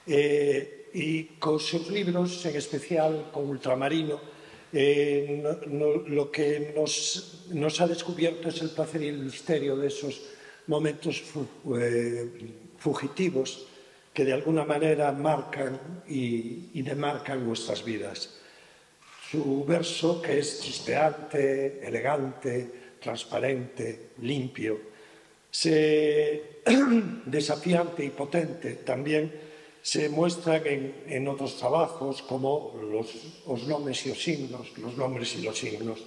E cos seus libros, en especial con Ultramarino, lo que nos ha descubierto es el placer y el misterio de esos momentos fugitivos que de alguna manera marcan y demarcan nuestras vidas. Su verso, que es chispeante, elegante, transparente, limpio, desafiante y potente, también se muestran en otros trabajos como los nombres y los signos, los nombres y los signos,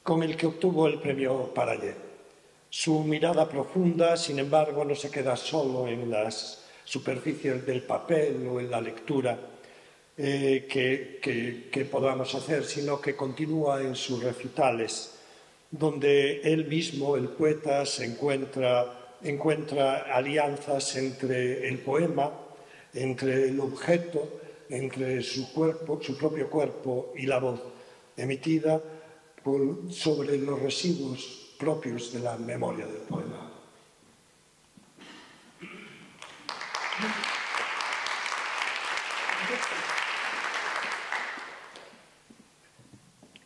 con el que obtuvo el premio Parallé. Su mirada profunda, sin embargo, no se queda solo en las superficies del papel o en la lectura que podamos hacer, sino que continúa en sus recitales, donde él mismo, el poeta, encuentra alianzas entre el poema, entre el objeto, entre su propio cuerpo y la voz emitida sobre los residuos propios de la memoria del poema.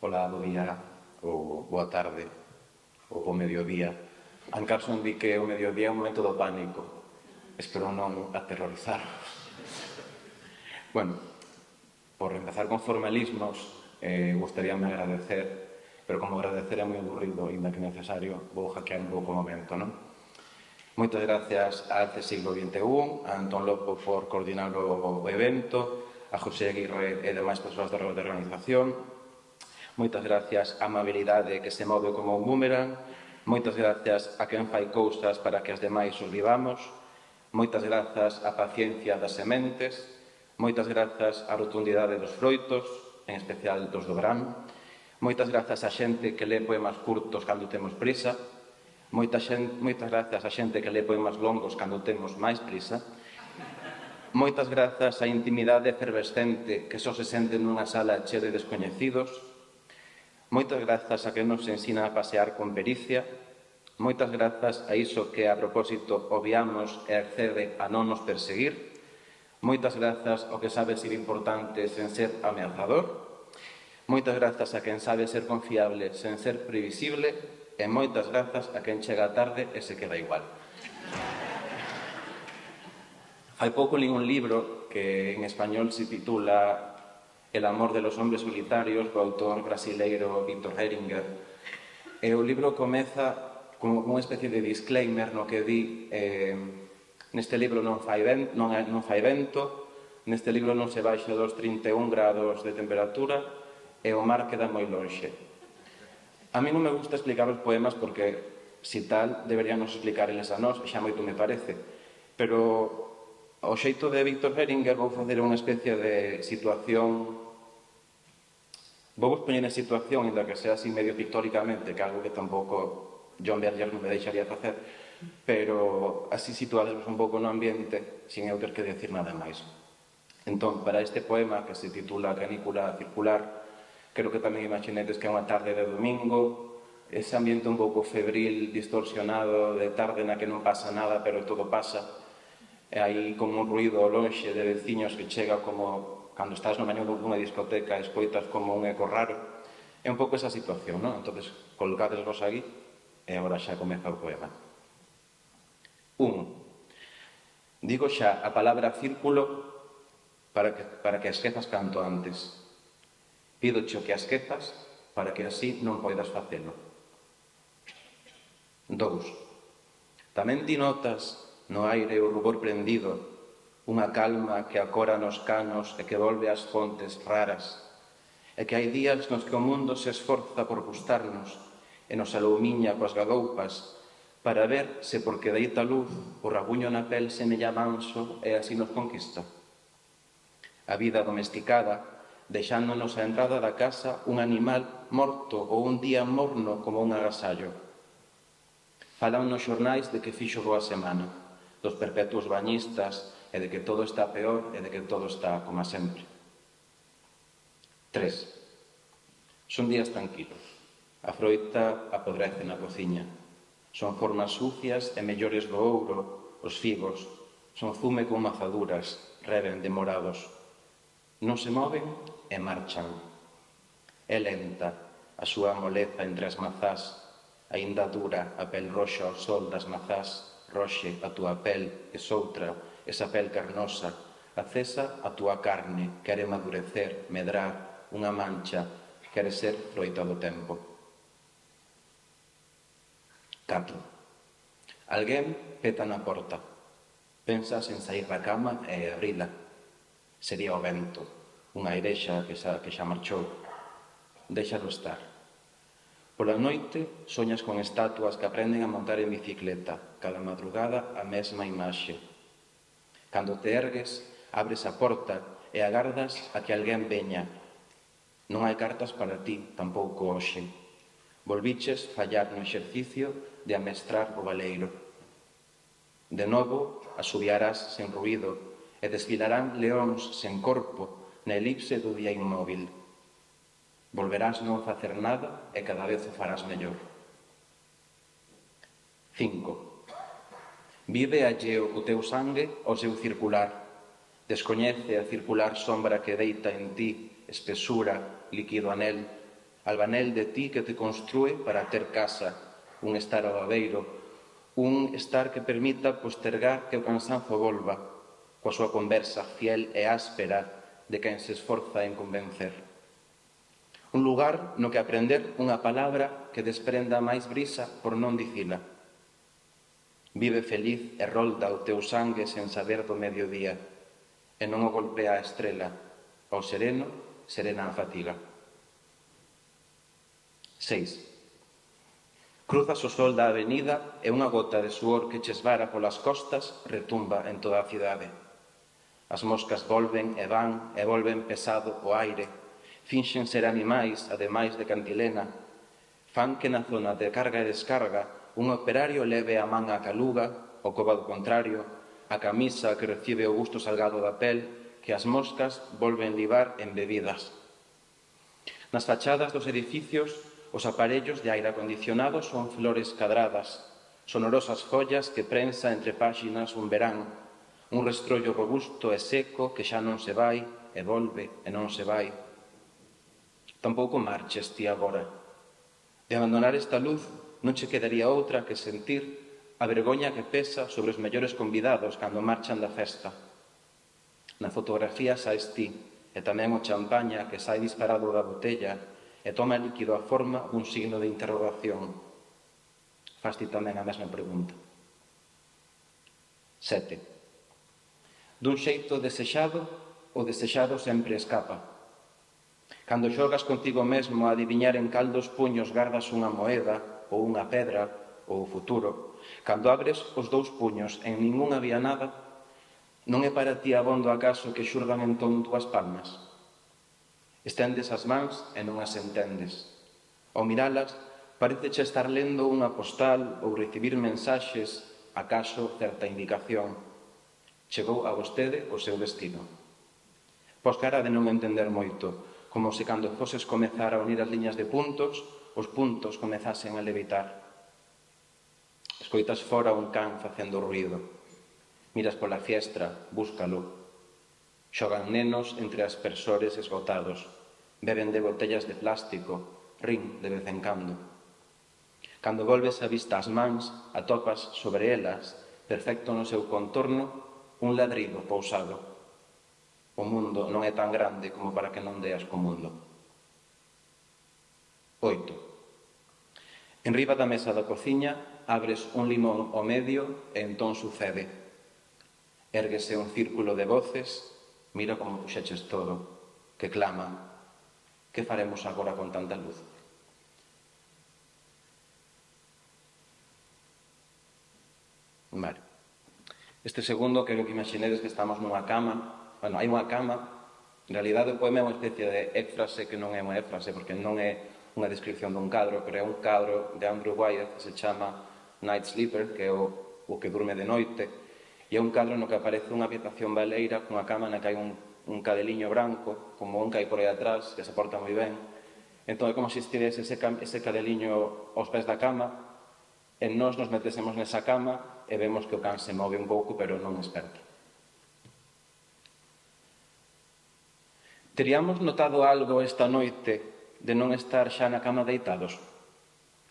Ola, bo día, ou boa tarde, ou bo mediodía. En Carson di que o mediodía é un momento do pánico. Espero non aterrorizarvos. Bueno, por empezar con formalismos, gustaríame agradecer, pero como agradecer é moi aburrido, ainda que necesario, vou hackear un pouco o momento, non? Moitas gracias a Arte Siglo XXI, a Antón Lopo por coordinar o evento, a José Aguirre e demais persoas da organización. Moitas gracias á amabilidade que se move como un boomerang. Moitas gracias a quen fai cousas para que as demais os vivamos. Moitas grazas á paciencia das sementes. Moitas grazas á rotundidade dos froitos, en especial dos do verán. Moitas grazas á xente que lê poemas curtos cando temos prisa. Moitas grazas á xente que lê poemas longos cando temos máis prisa. Moitas grazas á intimidade efervescente que só se sente nunha sala chea de descoñecidos. Moitas grazas a que nos ensina a pasear con pericia. Moitas grazas a iso que a propósito obviamos e accede a non nos perseguir. Moitas grazas ao que sabe ser importante sen ser ameazador. Moitas grazas a quen sabe ser confiable sen ser previsible. E moitas grazas a quen chega tarde e se queda igual. Hai pouco li un libro que en español se titula El amor de los hombres solitarios, do autor brasileiro Victor Heringer. E o libro comeza como unha especie de disclaimer no que di neste libro non fai vento, neste libro non se baixa dos 31 grados de temperatura e o mar queda moi lonxe. A mí non me gusta explicar os poemas porque, si tal, deberíanos explicar eles a nós, xa moito me parece. Pero ao xeito de Victor Heringer vou facer unha especie de situación. Vou poñer en situación, ainda que sea así medio pictóricamente, que algo que tampouco John Berger non me deixaría facer, pero así situademos un pouco no ambiente, sin eu ter que decir nada máis. Entón, para este poema, que se titula Canícula circular, creo que tamén imaginedes que é unha tarde de domingo, ese ambiente un pouco febril, distorsionado, de tarde na que non pasa nada, pero todo pasa, e hai como un ruido ao lonxe de veciños que chega como cando estás no baño dunha discoteca e escoitas como un eco raro. É un pouco esa situación, non? Entón, colocadesvos aquí e agora xa comeza o poema. 1. Digo xa a palabra círculo para que a esquezas canto antes. Pídoche o que a esquezas para que así non poidas facelo. 2. Tamén ti notas no aire o rubor prendido, unha calma que acora nos canos e que volve ás fontes raras, e que hai días nos que o mundo se esforza por gustarnos e nos alumiña coas gadoupas para ver se porque deita luz o rabuño na pel semella manso e así nos conquista. A vida domesticada, deixándonos a entrada da casa un animal morto ou un día morno como un agasallo. Falan nos xornais de que fixo boa semana, dos perpetuos bañistas e de que todo está peor e de que todo está como sempre. 3. Son días tranquilos. A froita apodrece na cociña. Son formas sucias e mellores do ouro, os figos. Son zume con mazaduras, reven demorados. Non se moven e marchan. É lenta a súa moleza entre as mazás, aínda dura a pel roxa ao sol das mazás, roxe a túa pel e soutra, esa pel carnosa, acesa a túa carne, quere madurecer, medrar, unha mancha, quere ser froita do tempo. 4. Alguén peta na porta. Pensas en sair da cama e abrila. Sería o vento, unha airexa que xa marchou. Déxalo estar. Pola noite soñas con estatuas que aprenden a montar en bicicleta, cada madrugada a mesma imaxe. Cando te ergues, abres a porta e agardas a que alguén veña. Non hai cartas para ti, tampouco hoxe. Volviches fallar no exercicio de amestrar o baleiro. De novo, asubiarás sen ruído e desfilarán leóns sen corpo na elipse do día inmóvil. Volverás non facer nada e cada vez o farás mellor. 5. Vive alleo o teu sangue ao seu circular. Descoñece a circular sombra que deita en ti, espesura, líquido anel, albanel de ti que te construe para ter casa, un estar ao babeiro, un estar que permita postergar que o cansanzo volva, coa súa conversa fiel e áspera de quen se esforza en convencer. Un lugar no que aprender unha palabra que desprenda máis brisa por non dicila. Vive feliz e rolda o teu sangue sen saber do mediodía, e non o golpea a estrela, ao sereno, serena a fatiga. 6. Cruzas o sol da avenida e unha gota de suor que che esvara polas costas retumba en toda a cidade. As moscas volven e volven pesado o aire, finxen ser animais, ademais de cantilena, fan que na zona de carga e descarga un operario leve a man a caluga, o coba do contrario, a camisa que recibe o gusto salgado da pel, que as moscas volven libar en bebidas. Nas fachadas dos edificios, os aparellos de aire acondicionado son flores cadradas, sonorosas follas que prensa entre páxinas un verán, un restrollo robusto e seco que xa non se vai, e volve, e non se vai. Tampouco marches ti agora. De abandonar esta luz non che quedaría outra que sentir a vergoña que pesa sobre os mellores convidados cando marchan da festa. Na fotografía saes ti, e tamén o champaña que sai disparado da botella e toma líquido a forma dun signo de interrogación. Fas ti tamén a mesma pregunta. 7. Dun xeito desexado, o desexado sempre escapa. Cando xogas contigo mesmo a adiviñar en cal dos puños gardas unha moeda, ou unha pedra, ou o futuro, cando abres os dous puños en ningún había nada, non é para ti abondo acaso que xurdan entón dúas palmas? Estendes as mans e non as entendes. Ao miralas, pareceche estar lendo unha postal ou recibir mensaxes, acaso certa indicación. Chegou a vostede o seu destino. Pos cara de non entender moito, como se cando foses comezar a unir as liñas de puntos, os puntos comezasen a levitar. Escoitas fora un can facendo ruído. Miras pola fiestra, búscalo. Xogan nenos entre aspersores esgotados, beben de botellas de plástico, rin de vez en cando. Cando volves a vista as mans, atopas sobre elas, perfecto no seu contorno, un ladrido pousado. O mundo non é tan grande como para que non deas co mundo. 8. En riba da mesa da cociña abres un limón ao medio e entón sucede. Érguese un círculo de voces. Mira como puxeches todo, que claman. Que faremos agora con tanta luz? Vale. Este segundo, quero que imaginedes que estamos nunha cama. Bueno, hai unha cama. En realidade, o poema é unha especie de éfrase que non é unha éfrase, porque non é unha descripción dun cadro, pero é un cadro de Andrew Wyeth que se chama Night Sleeper, que é o que durme de noite. E é un cadro no que aparece unha habitación baleira cunha cama na que hai un cadeliño branco, como un que hai por aí atrás, que se porta moi ben. Entón é como se estivese ese cadeliño aos pés da cama, e nós nos metésemos nesa cama e vemos que o can se move un pouco, pero non esperta. Teríamos notado algo esta noite de non estar xa na cama deitados,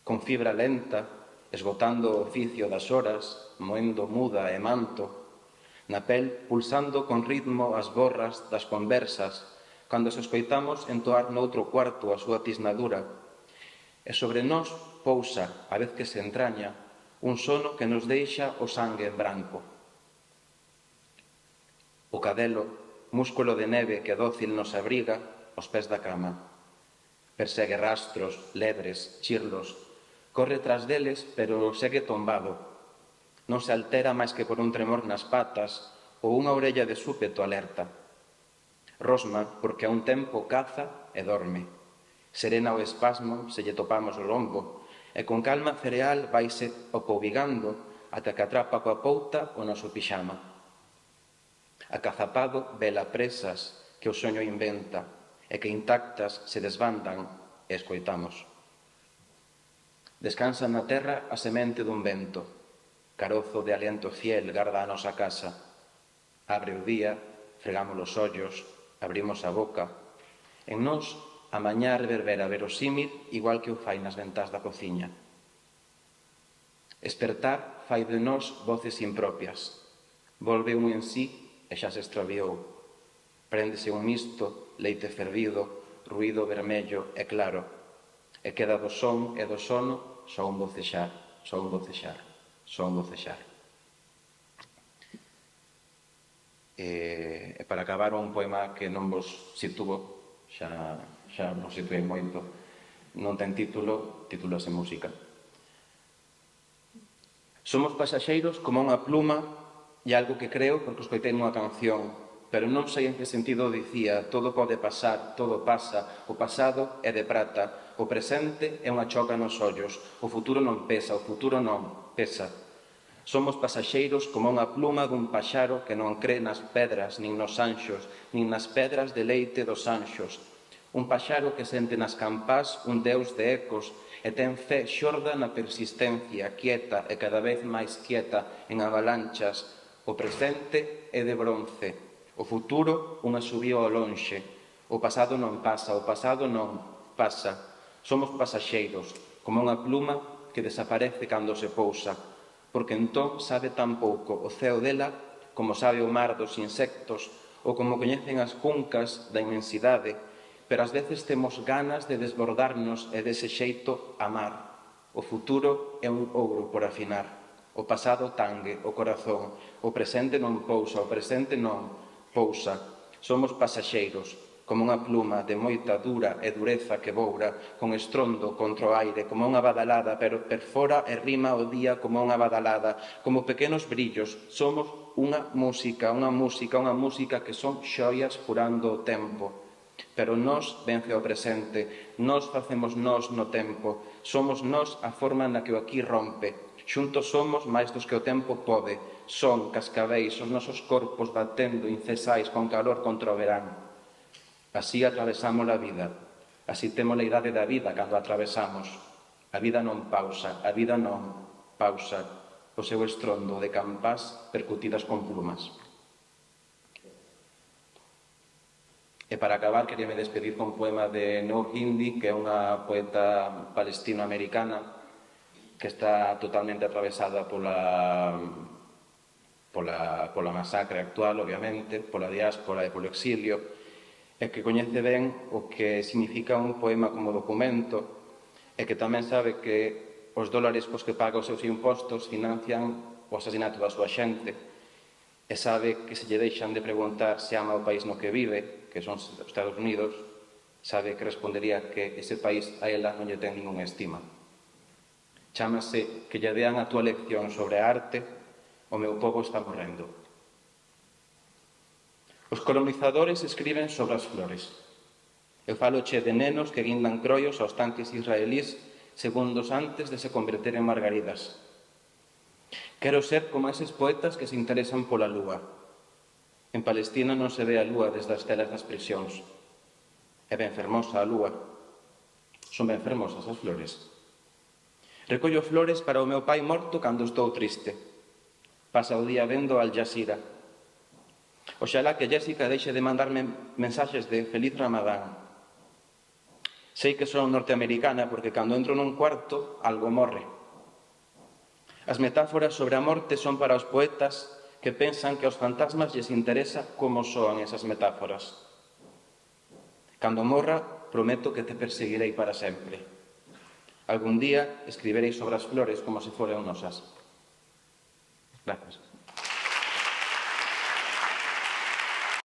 con fibra lenta, esgotando o oficio das horas, moendo muda e manto, na pel pulsando con ritmo as borras das conversas, cando se escoitamos entoar noutro cuarto a súa tisnadura, e sobre nós pousa, a vez que se entraña, un sono que nos deixa o sangue en branco. O cadelo, músculo de neve que dócil nos abriga, aos pés da cama. Persegue rastros, lebres, chirlos, corre tras deles, pero segue tombado. Non se altera máis que por un tremor nas patas ou unha orella de súpeto alerta. Rosma, porque a un tempo caza e dorme. Serena o espasmo se lle topamos o lombo, e con calma cereal vaise opoubigando ata que atrapa coa pouta o noso pixama. Acazapado vela presas que o soño inventa e que intactas se desbandan e escoitamos. Descansa na terra a semente dun vento, carozo de aliento fiel garda a nosa casa. Abre o día, fregamos os ollos, abrimos a boca. En nós, a mañá reverbera verosímil igual que o fai nas ventás da cociña. Espertar fai de nós voces impropias. Volve un en sí e xa se extraviou. Préndese un misto, leite fervido, ruído vermello e claro, e queda do son e do sono só un bocexar, só un bocexar, só un bocexar. E para acabar un poema que non vos situo, xa vos situei moito, non ten título, titúlase Música. Somos pasaxeiros como unha pluma e algo que creo porque escoitei nunha canción, pero non sei en que sentido dicía, todo pode pasar, todo pasa, o pasado é de prata, o presente é unha choca nos ollos, o futuro non pesa, o futuro non pesa. Somos pasaxeiros como unha pluma dun paxaro que non cree nas pedras, nin nos anxos, nin nas pedras de leite dos anxos. Un paxaro que sente nas campás un deus de ecos e ten fe xorda na persistencia, quieta e cada vez máis quieta en avalanchas. O presente é de bronce, o futuro unha subía ao lonxe, o pasado non pasa, o pasado non pasa. Somos pasaxeiros, como unha pluma que desaparece cando se pousa, porque entón sabe tan pouco o ceo dela como sabe o mar dos insectos ou como coñecen as cuncas da inmensidade, pero ás veces temos ganas de desbordarnos e dese xeito amar. O futuro é un ouro por afinar. O pasado tangue o corazón, o presente non pousa, o presente non pousa. Somos pasaxeiros, como unha pluma de moita dura e dureza que boura, con estrondo contra o aire, como unha badalada, pero perfora e rima o día como unha badalada, como pequenos brillos. Somos unha música que son xoias furando o tempo. Pero nós vence o presente, nós facemos nós no tempo, somos nós a forma na que o aquí rompe. Xuntos somos máis dos que o tempo pode, son cascabeis os nosos corpos batendo incesais con calor contra o verán. Así atravesamos a vida, así temos a idade da vida cando atravesamos. A vida non pausa, a vida non pausa, o seu estrondo de campás percutidas con plumas. E para acabar, queríame despedir con un poema de Noor Hindi, que é unha poeta palestino-americana que está totalmente atravesada pola masacre actual, obviamente, pola diáspora e polo exilio, e que coñece ben o que significa un poema como documento, e que tamén sabe que os dólares cos que paga os seus impostos financian o asasinato da súa xente, e sabe que se lle deixan de preguntar se ama o país no que vive, que son os Estados Unidos, sabe que respondería que ese país a ela non lle ten ninguna estima. Chámase que lle dean a túa lección sobre a arte, o meu pobo está morrendo. Os colonizadores escriben sobre as flores. Eu faloche de nenos que guindan croios aos tanques israelís segundos antes de se converter en margaridas. Quero ser como eses poetas que se interesan pola lúa. En Palestina non se ve a lúa desde as telas das prisións. É ben fermosa a lúa. Son ben fermosas as flores. Recollo flores para o meu pai morto cando estou triste. Pasa o día vendo Al Jazeera. Oxalá que Jéssica deixe de mandarme mensaxes de Feliz Ramadán. Sei que son norteamericana porque cando entro nun cuarto algo morre. As metáforas sobre a morte son para os poetas que pensan que aos fantasmas lles interesa como soan esas metáforas. Cando morra, prometo que te perseguirei para sempre. Algún día escribirei sobre as flores como se foran nosas. Gracias.